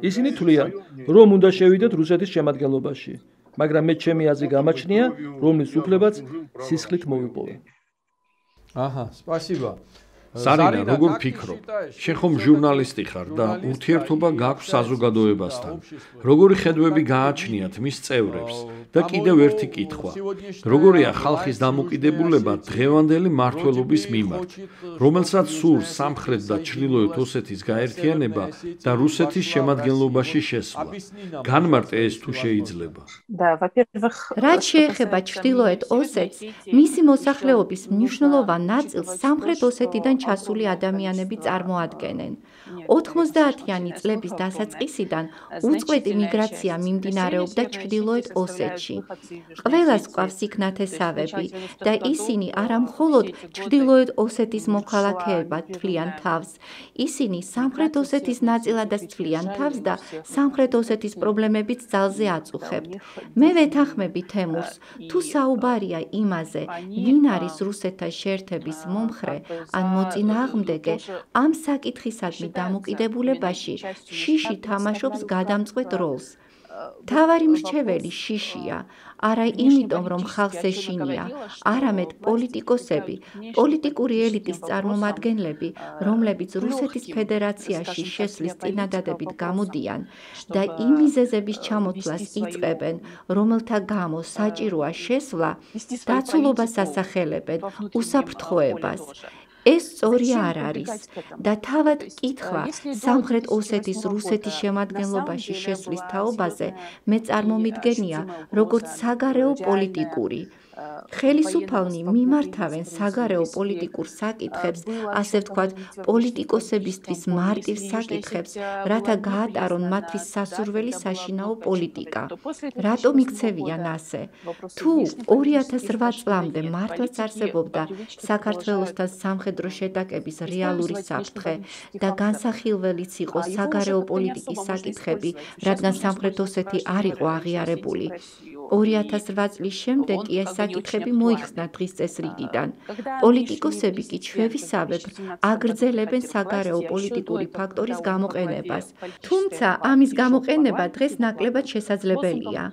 ისინი თვლიან, რომ უნდა შევიდეთ რუსეთის შემადგენლობაში. მაგრამ მე ჩემი აზრი გამაჩნია, რომლის უფლებაც სისხლით მოვიპოვე. აჰა, სპასიბა. Sarina, როგორ ფიქრობ? შენ ხომ ჟურნალისტი ხარ და ურთიერთობა გაქვს საზოგადოებასთან. როგორი ხედვები გააჩნიათ მის წევრებს? და კიდევ ერთი კითხვა. როგორია ხალხის დამოკიდებულება დღევანდელი მმართველობის მიმართ, რომელსაც სურს სამხრეთ და ჩრდილოეთ ოსეთის გაერთიანება და რუსეთის შემადგენლობაში შესვლა? განმარტე ეს თუ შეიძლება. რაც შეეხება ჩრდილოეთ ოსეთს, მისი მოსახლეობის მნიშვნელოვან ნაწილს სამხრეთ ოსეთიდან ჩასული ადამიანები წარმოადგენენ. 90-იანი წლების დასაწყისიდან უწყვეტი მიგრაცია მიმდინარეობდა ჩრდილოეთ ოსეთში. ყველას გვყავს იქ ნათესავები და ისინი არა მხოლოდ ჩრდილოეთ ოსეთის მოქალაქეებად თვლიან თავს, ისინი სამხრეთ ოსეთის ნაწილადაც თვლიან თავს და სამხრეთ ოსეთის პრობლემებიც ძალზე აწუხებთ. მე ვეთანხმები თემურს, თუ საუბარია იმაზე, ვინ არის რუსეთთან შეერთების მომხრე ან მოწინააღმდეგე, ამ საკითხისადმი დამოკიდებულებაში შიში თამაშობს გადამწყვეტ როლს. თავარი მრჩეველი შიშია, არა იმიტომ, რომ ხალხს ეშინია, არამედ პოლიტიკოსები, პოლიტიკური ელიტის წარმომადგენლები, რომლებიც რუსეთის ფედერაციაში შესვლის წინადადებით გამოდიან და იმ მიზეზების ჩამოთვლას იწყებენ, რომელთა გამო საჭიროა შესვლა, დაცულობას ასახელებენ, უსაფრთხოებას. ეს სწორი არ არის და თავად კითხვა სამხრეთ ოსეთის რუსეთის შემადგენლობაში შესვლის თაობაზე მე წარმომიდგენია როგორც საგარეო პოლიტიკური. ხელისუფალნი მიმართავენ საგარეო პოლიტიკურ საკითხებს, ასე ვთქვათ, პოლიტიკოსებისთვის მარტივ საკითხებს, რათა გაატარონ მათთვის სასურველი საშინაო პოლიტიკა. რატომ იქცევიან ასე? თუ 2008 წლამდე მართლაც არსებობდა საქართველოსთან სამხედრო შეტაკების რეალური საფრთხე და განსახილველიც იყო საგარეო პოლიტიკის საკითხები, რადგან სამხრეთ ოსეთი არ იყო აღიარებული. 2008 წლის შემდეგ კი ეს საკითხები მოიხსნა დღის წესრიგიდან. პოლიტიკოსები კი ჩვევისავებ აგრძელებენ საგარეო პოლიტიკური ფაქტორის გამოყენებას. თუმცა ამის გამოყენება დღეს ნაკლებად შესაძლებელია.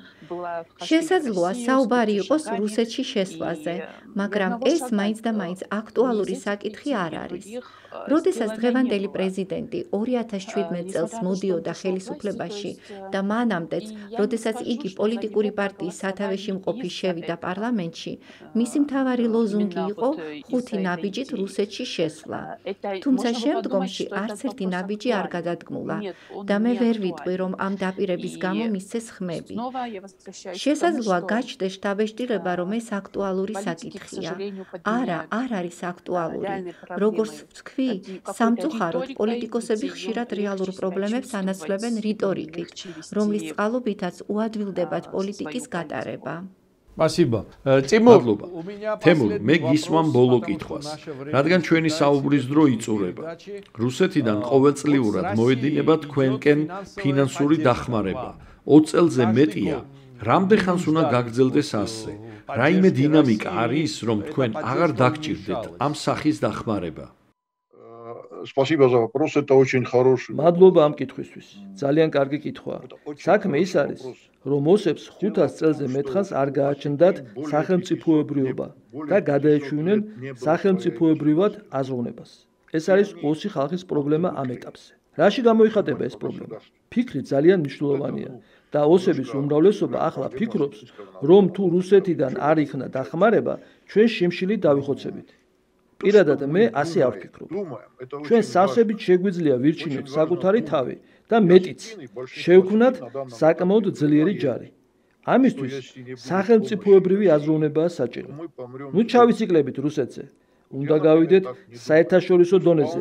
შესაძლოა საუბარი იყოს რუსეთში შესვლაზე, მაგრამ ეს მაინც და მაინც აქტუალური საკითხი არ არის. როდესაც დღევანდელი პრეზიდენტი 2017 წელს მოდიოდა ხელისუფლებაში და მანამდეც, როდესაც იგი პოლიტიკური პარტიის სათავეში მყოფი შევიდა პარლამენტში, მისი მთავარი ლოზუნგი იყო 5 ნაბიჯით რუსეთში შესვლა. თუმცა შემდგომში არც ერთი ნაბიჯი არ გადადგმულა და მე ვერ ვიტყვი, რომ ამ დაპირების გამო მისცეს ხმები. შესაძლოა გაჩნდეს შთაბეჭდილება, რომ ეს აქტუალური საკითხია. არა, არ არის აქტუალური. როგორც ვთქვი, სამწუხაროდ პოლიტიკოსები ხშირად რეალურ პრობლემებს ანაცვლებენ რიტორიკით, რომლის წყალობითაც უადვილდებათ პოლიტიკის გატარება. Спасибо. მადლობა. თემურ, მე გისვამ ბოლო კითხვას. რადგან ჩვენი საუბრის დრო იწურება, რუსეთიდან ყოველწლიურად მოედინება თქვენკენ ფინანსური დახმარება. 20 წელზე მეტია. რამდენხანს უნდა გაგრძელდეს ასე? რაიმე დინამიკა არის, რომ თქვენ აღარ დაგჭირდეთ ამ სახის დახმარება? Спасибо за вопрос, это очень хороший. მადლობა ამ კითხვისთვის. ძალიან კარგი კითხვაა. საქმე ის არის, რომ ოსებს 500 წელზე მეტხანს არ გააჩნდათ სახელმწიფოებრიობა და გადაეჩვენენ სახელმწიფოებრივად აზროვნებას. ეს არის ოსი ხალხის პრობლემა ამ ეტაპზე. რაში გამოიხატება ეს პრობლემა? ფიქრი ძალიან მნიშვნელოვანია და ოსების უმრავლესობა ახლა ფიქრობს, რომ თუ რუსეთიდან არ იქნა დახმარება, ჩვენ შიმშილით დავიხოცებით. პირადად მე ასე არ ვფიქრობ. ჩვენ სავსებით შეგვიძლია ვირჩინოთ საკუთარი თავი და მეტიც შევქმნათ საკმაოდ ძლიერი ჯარი. ამისთვის სახელმწიფოებრივი აზროვნებაა საჭირო. ნუ ჩავიციკლებით რუსეთზე. უნდა გავიდეთ საერთაშორისო დონეზე.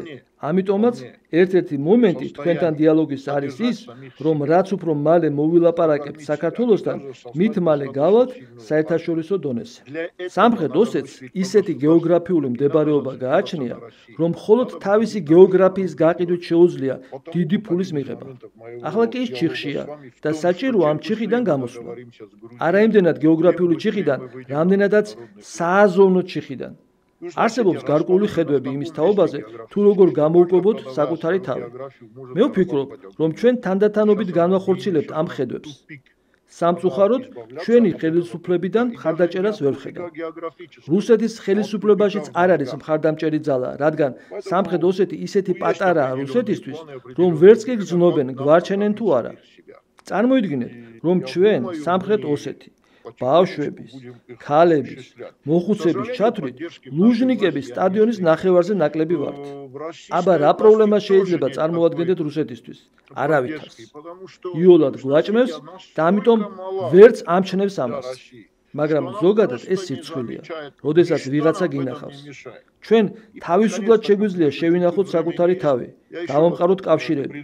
ამიტომაც ერთ-ერთი მომენტი თქვენთან დიალოგის არის ის, რომ რაც უფრო მალე მოვილაპარაკებთ საქართველოსთან, მით მალე გავალთ საერთაშორისო დონეზე. სამხრეთ ოსეთს ისეთი გეოგრაფიული მდებარეობა გააჩნია, რომ მხოლოდ თავისი გეოგრაფიის გაყიდვით შეუძლია დიდი ფულის მიღება. ახლა კი ის ჩიხშია და საჭიროა ამ ჩიხიდან გამოსვლა. არა იმდენად გეოგრაფიული ჩიხიდან, რამდენადაც სააზოვნო ჩიხიდან. არსებობს გარკვეული ხედვები იმის თაობაზე, თუ როგორ გამოვკვებოთ საკუთარი თავი. მე ვფიქრობ, რომ ჩვენ თანდათანობით განვახორციელებთ ამ ხედვებს. სამწუხაროდ, ჩვენი ხელისუფლებიდან მხარდაჭერას ვერ ვხედავ. რუსეთის ხელისუფლებაშიც არ არის მხარდამჭერი ძალა, რადგან სამხრეთ ოსეთი ისეთი პატარაა რუსეთისთვის, რომ ვერც კი გრძნობენ გვარჩენენ თუ არა. წარმოიდგინეთ, რომ ჩვენ სამხრეთ ოსეთი ბავშვების, ქალების, მოხუცების ჩათვლით ლუჟნიკების სტადიონის ნახევარზე ნაკლები ვართ. აბა რა პრობლემა შეიძლება წარმოადგენდეთ რუსეთისთვის? არავითარს. იოლად გვაჭმევს და ამიტომ ვერც ამჩნევს ამას. მაგრამ ზოგადად ეს სირცხვილია, როდესაც ვიღაცა გინახავს. ჩვენ თავისუფლად შეგვიძლია შევინახოთ საკუთარი თავი, დავამყაროთ კავშირები.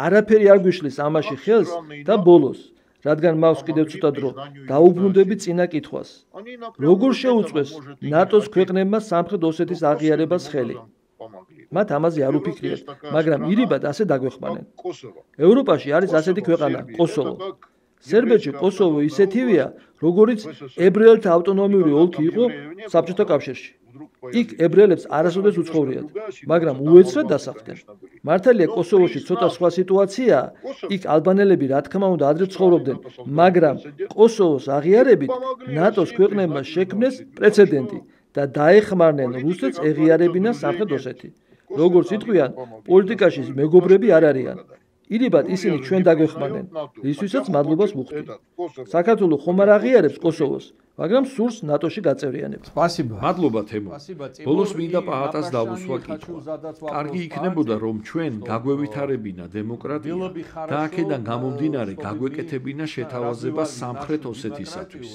არაფერი არ გვიშლის ამაში ხელს და ბოლოს რადგან მაქვს კიდევ ცოტა დრო, დაუბრუნდები წინა კითხვას. როგორ შეუწყვეს ნატოს ქვეყნებმა სამხრეთ ოსეთის აღიარებას ხელი? მათ ამაზე არ უფიქრიათ, მაგრამ ირიბად ასე დაგვეხმანენ. ევროპაში არის ასეთი ქვეყანა, კოსოვო. სერბეთში კოსოვო ისეთივეა, როგორიც ებრაელთა ავტონომიური ოლქი იყო საბჭოთა კავშირში. იქ ებრაელებს არასოდეს უცხოვრიათ, მაგრამ უეცრად დასახლდნენ. მართალია კოსოვოში ცოტა სხვა სიტუაციაა, იქ ალბანელები რა თქმა უნდა ადრე ცხოვრობდნენ, მაგრამ კოსოვოს აღიარებით ნატოს ქვეყნებმა შექმნეს პრეცედენტი და დაეხმარნენ რუსეთს ეღიარებინა სამხრეთ ოსეთი. როგორც იტყვიან, პოლიტიკაში მეგობრები არ არიან. ირიბად ისინი ჩვენ დაგვეხმარნენ, რისთვისაც მადლობას ვუხდით. საქართველოს ხომ არ აღიარებს კოსოვოს, მაგრამ სურს ნატოში გაწევრიანება. მადლობა თემო. ბოლოს მინდა პაატას დავუსვა კითხვა. კარგი იქნებოდა რომ ჩვენ გაგვევითარებინა დემოკრატია და აქედან გამომდინარე გაგვეკეთებინა შეთავაზება სამხრეთ ოსეთისათვის.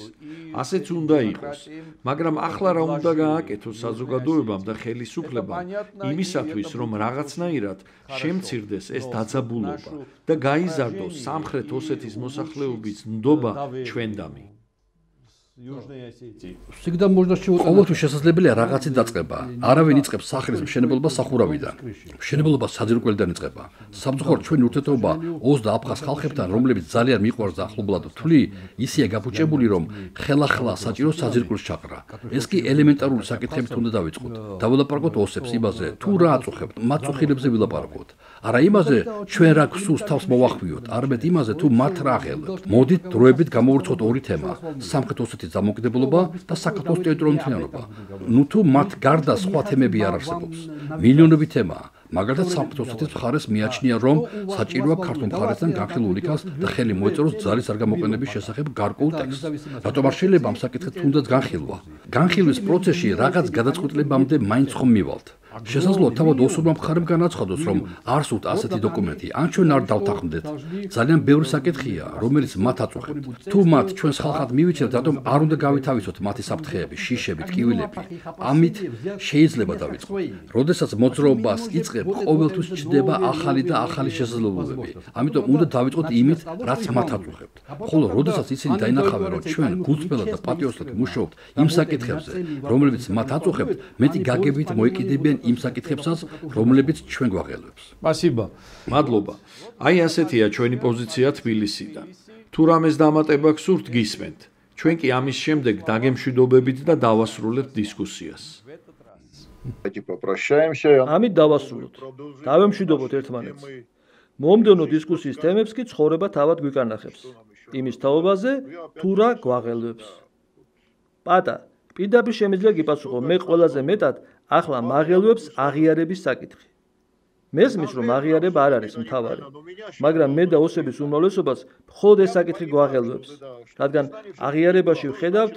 ასეც უნდა იყოს, მაგრამ ახლა რა უნდა გააკეთოს საზოგადოებამ და ხელისუფლებამ იმისათვის რომ რაღაცნაირად შემცირდეს ეს დაძაბულობა და გაიზარდოს სამხრეთ ოსეთის მოსახლეობის ნდობა ჩვენდამი. Всегда можно чего-то. ყოველთვის შესაძლებელია რაღაცის დაწყება. არავინ იწყებს სახლის მშენებლობა სახურავიდან. მშენებლობა საძირკველიდან იწყება. სამწუხაროდ ჩვენი ურთიერთობა ოს და აფხაზ ხალხებთან, რომლებიც ძალიან მიყვარს და ახლობლად თვლი, ისეა გაფუჭებული, რომ ხელახლა საჭირო საძირკვლის ჩაყრა. ეს კი ელემენტარული საკითხებით უნდა დავიწყოთ. დავილაპარაკოთ ოსებს იმაზე, თუ რა აწუხებთ, მათ წუხილებზე ვილაპარაკოთ. არა იმაზე, ჩვენ რა გვსურს თავს მოვახვიოთ, არამედ იმაზე, თუ მათ რა აღელვებთ. მოდით დროებით გამოვურცხოთ ორი თემა: სამხრეთ ოსეთის დამოუკიდებლობა და საქართველოს ტერიტორიული მთლიანობა. ნუ თუ მათ გარდა სხვა თემები არ არსებობს. მილიონები თემაა. მაგალითად სამხრეთ ოსეთის მხარეს მიაჩნია, რომ საჭიროა ქართულ მხარესთან განხილულ იქას და ხელი მოეწეროს ძალის არ გამოყენების შესახებ გარკვეულ ტექსტს. რატომ არ შეიძლება ამ საკითხით თუნდაც განხილვა? განხილვის პროცესში რაღაც გადაწყვეტილებამდე მაინც ხომ მივალთ. შესაძლოა თავად ოსურმა მხარემ განაცხადოს, რომ არ სურთ ასეთი დოკუმენტი, ან ჩვენ არ დავთანხმდეთ. ძალიან ბევრი საკითხია, რომელიც მათ აწუხებთ. თუ მათ ჩვენს ხალხად მივიჩნევთ, რატომ არ უნდა გავითავისოთ მათი საფრთხეები, შიშები, ტკივილები? ამით შეიძლება დავიწყოთ. როდესაც მოძრაობას იწყებ, ყოველთვის ჩნდება ახალი და ახალი შესაძლებლობები. ამიტომ უნდა დავიწყოთ იმით, რაც მათ აწუხებთ. ხოლო როდესაც ისინი დაინახავენ, რომ ჩვენ გულწრფელად და პატიოსად მუშაობთ იმ საკითხებზე, რომლებიც მათ აწუხებთ, მეტი გაგებით მოეკიდებიან იმ საკითხებსაც, რომლებიც ჩვენ გვაღელვებს. Спасибо. მადლობა. აი ასეთია ჩვენი პოზიცია თბილისიდან. თუ რამეს დამატება გსურთ, გისმენთ. ჩვენ კი ამის შემდეგ დაგემშვიდობებით და დავასრულებთ დისკუსიას. ამით დავასრულოთ. დავემშვიდობოთ ერთმანეთს. მომდევნო დისკუსიის თემებს კი ცხოვრება თავად გვიკარნახებს. იმის თაობაზე თუ რა გვაღელვებს. პატა, პირდაპირ შემიძლია გიპასუხო, მე ყველაზე მეტად ახლა მაღელვებს აღიარების საკითხი. მესმის რომ აღიარება არ არის მთავარი, მაგრამ მე და ოსების უმრავლესობას მხოლოდ ეს საკითხი გვაღელვებს, რადგან აღიარებაში ვხედავთ,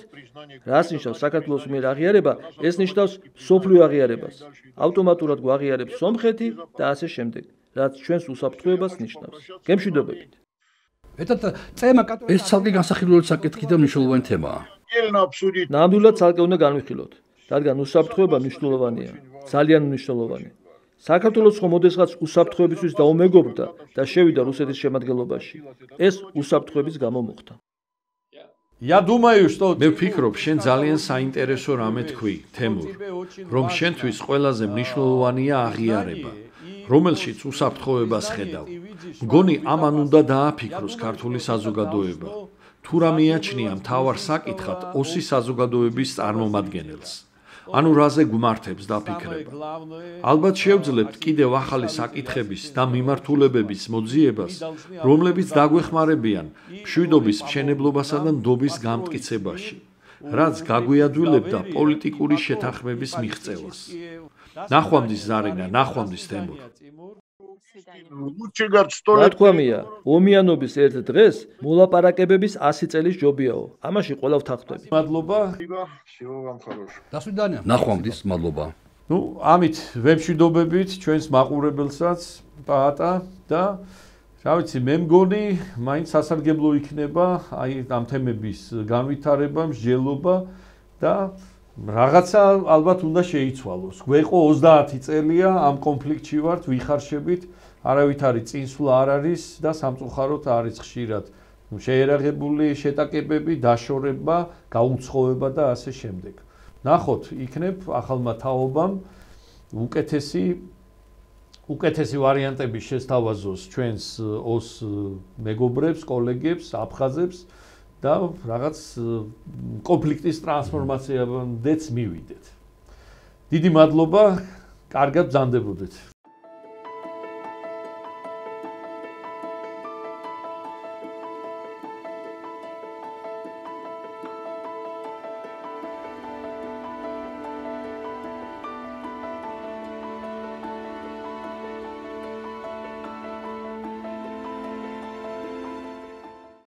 რას ნიშნავს საქართველოს მიერ აღიარება, ეს ნიშნავს სოფლიო აღიარებას. ავტომატურად გვაღიარებს სომხეთი და ასე შემდეგ, რაც ჩვენს უსაფრთხოებას ნიშნავს. გემშვიდობებით. ეს ცალკე განსახილველი საკითხი და მნიშვნელოვანი თემაა. ნამდვილად ცალკე უნდა განვიხილოთ, რადგან უსაფრთხოება მნიშვნელოვანია, ძალიან მნიშვნელოვანი. საქართველოს ხომ ოდესღაც უსაფრთხოებისთვის დაუმეგობრდა და შევიდა რუსეთის შემადგენლობაში. ეს უსაფრთხოების გამო მოხდა. Я думаю, что მე ვფიქრობ, შენ ძალიან საინტერესო რამე თქვი, თემურ, რომ შენთვის ყველაზე მნიშვნელოვანია აღიარება, რომელშიც უსაფრთხოებას ხედავ. მგონი ამან უნდა დააფიქროს ქართული საზოგადოება. თუ რა მიაჩნია მთავარ საკითხად ოსი საზოგადოების წარმომადგენელს. ანუ რაზე გვმართებს დაფიქრება. ალბათ შევძლებთ კიდევ ახალი საკითხების და მიმართულებების მოძიებას, რომლებიც დაგვეხმარებიან მშვიდობის მშენებლობასა და ნდობის გამტკიცებაში, რაც გაგვიადვილებდა პოლიტიკური შეთანხმების მიღწევას. ნახვამდის ზარენა, ნახვამდის თემურ. რა თქვამია, ომიანობის ერთ დღეს მოლაპარაკებების 100 წელის ჯობიაო. ამაში ყველა ვთანხმდები. მადლობა. ნახვამდის, მადლობა. Ну, ამით ვემშვიდობებით ჩვენს მაყურებელსაც, პაატა და რა ვიცი, მე მგონი, მაინც სასარგებლო იქნება აი ამ თემების განვითარება, მსჯელობა და რაღაცა ალბათ უნდა შეიცვალოს. გვეყო 30 წელია ამ კონფლიქტში ვართ, ვიხარშებით, არავითარი წინსვლა არ არის და სამწუხაროდ არის ხშირად შეერაღებული შეტაკებები, დაშორება, გაუცხოება და ასე შემდეგ. ნახოთ, იქნებ ახალმა თაობამ უკეთესი უკეთესი ვარიანტები შესთავაზოს ჩვენს ოს მეგობრებს, კოლეგებს, აფხაზებს და რაღაც კონფლიქტის ტრანსფორმაციამდეც მივიდეთ. დიდი მადლობა, კარგად ბრძანდებოდეთ.